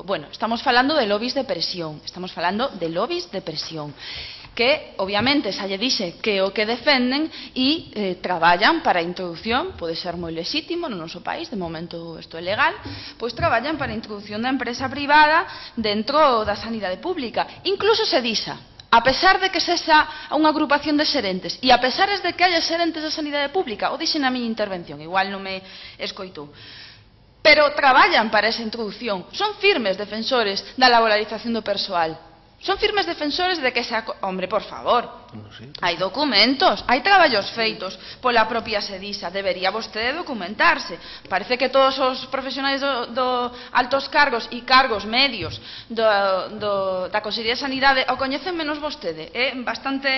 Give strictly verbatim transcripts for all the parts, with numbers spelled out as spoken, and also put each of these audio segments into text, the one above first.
Bueno, estamos falando de lobbies de presión, estamos falando de lobbies de presión, que obviamente xa lle dixe que o que defenden e eh, traballan para a introducción, pode ser moi lexítimo no noso país, de momento isto é legal, pois traballan para a introducción da empresa privada dentro da sanidade pública. Incluso se disa, a pesar de que sexa unha agrupación de xerentes e a pesar de que haya xerentes da sanidade pública, o dixen na miña intervención, igual non me escoitou, pero traballan para esa introducción, son firmes defensores da laboralización do persoal, son firmes defensores de que se... Hombre, por favor, hai documentos, hai traballos feitos pola propia Sedisa, debería vostede documentarse. Parece que todos os profesionais do, do altos cargos e cargos medios do, do, da Consellería de Sanidade o coñecen menos vostede, é bastante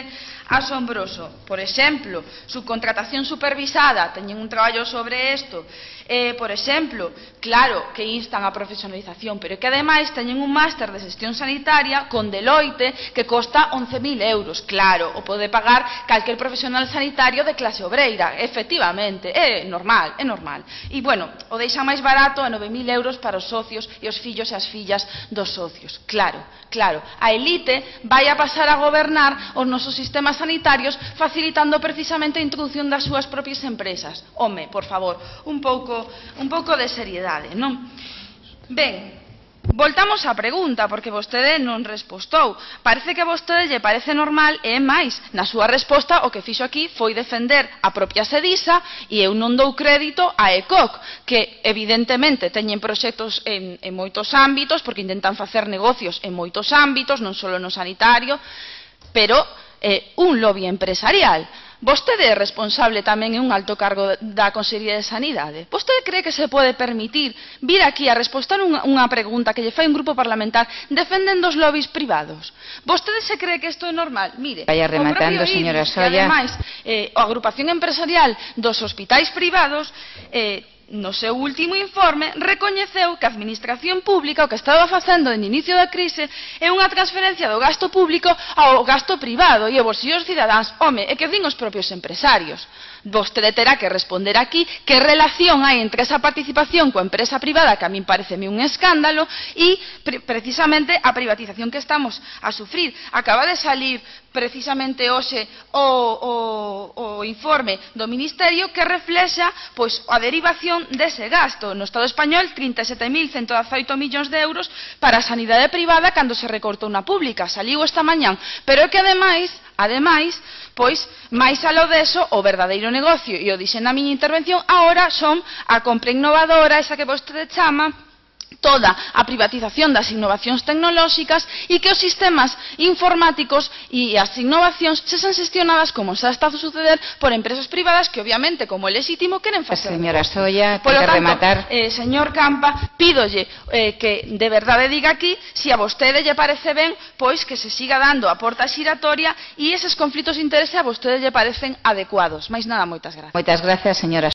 asombroso. Por exemplo, subcontratación supervisada, teñen un traballo sobre isto. Eh, por exemplo, claro que instan a profesionalización, pero que ademais teñen un máster de xestión sanitaria con Deloitte que costa once mil euros. Claro, o pode pagar calquer profesional sanitario de clase obreira, efectivamente, é normal, é normal. E, bueno, o deixan máis barato a nove mil euros para os socios e os fillos e as fillas dos socios. Claro, claro, a elite vai a pasar a gobernar os nosos sistemas sanitarios facilitando precisamente a introducción das súas propias empresas. Home, por favor, un pouco, un pouco de seriedade, non? Ben, voltamos á pregunta, porque vostede non respostou. Parece que a vostede lle parece normal e máis. Na súa resposta o que fixo aquí foi defender a propia Sedisa e eu non dou crédito a E C O C, que evidentemente teñen proxectos en, en moitos ámbitos, porque intentan facer negocios en moitos ámbitos, non só no sanitario, pero eh, un lobby empresarial. Vostede é responsable tamén en un alto cargo da Consellería de Sanidade. Vostede cree que se pode permitir vir aquí a responder unha, unha pregunta que lle fai un grupo parlamentar defendendo os lobbies privados? Vostede se cree que isto é normal? Mire, vaya rematando, señora Solla. Que ademais, eh, a agrupación empresarial dos hospitais privados eh, no seu último informe recoñeceu que a administración pública o que estaba facendo en inicio da crise é unha transferencia do gasto público ao gasto privado e ao bolsillo dos cidadáns. Home, é que din os propios empresarios. Vostede terá que responder aquí que relación hai entre esa participación coa empresa privada, que a min pareceme un escándalo, e pre precisamente a privatización que estamos a sufrir. Acaba de salir precisamente hoxe o, o, o informe do Ministerio que reflexa pois, a derivación dese gasto. No Estado español, trinta e sete mil ciento dezaoito millóns de euros para a sanidade privada cando se recortou na pública. Saliu esta mañán. Pero é que ademais, ademais, pois, máis alo deso, o verdadeiro negocio, e o dixen na miña intervención, agora son a compra innovadora, esa que vostede chama, toda a privatización das innovacións tecnolóxicas e que os sistemas informáticos e as innovacións sexan xestionadas como xa está a suceder por empresas privadas que obviamente, como é lexítimo, queren facer. Señora Solla, Por lo tanto, rematar. Eh, señor Campa, pídolle eh, que de verdade diga aquí se a vostede lle parece ben pois que se siga dando a porta xiratoria e eses conflitos de interese a vostede lle parecen adecuados. Mais nada, moitas gracias. Moitas gracias, señora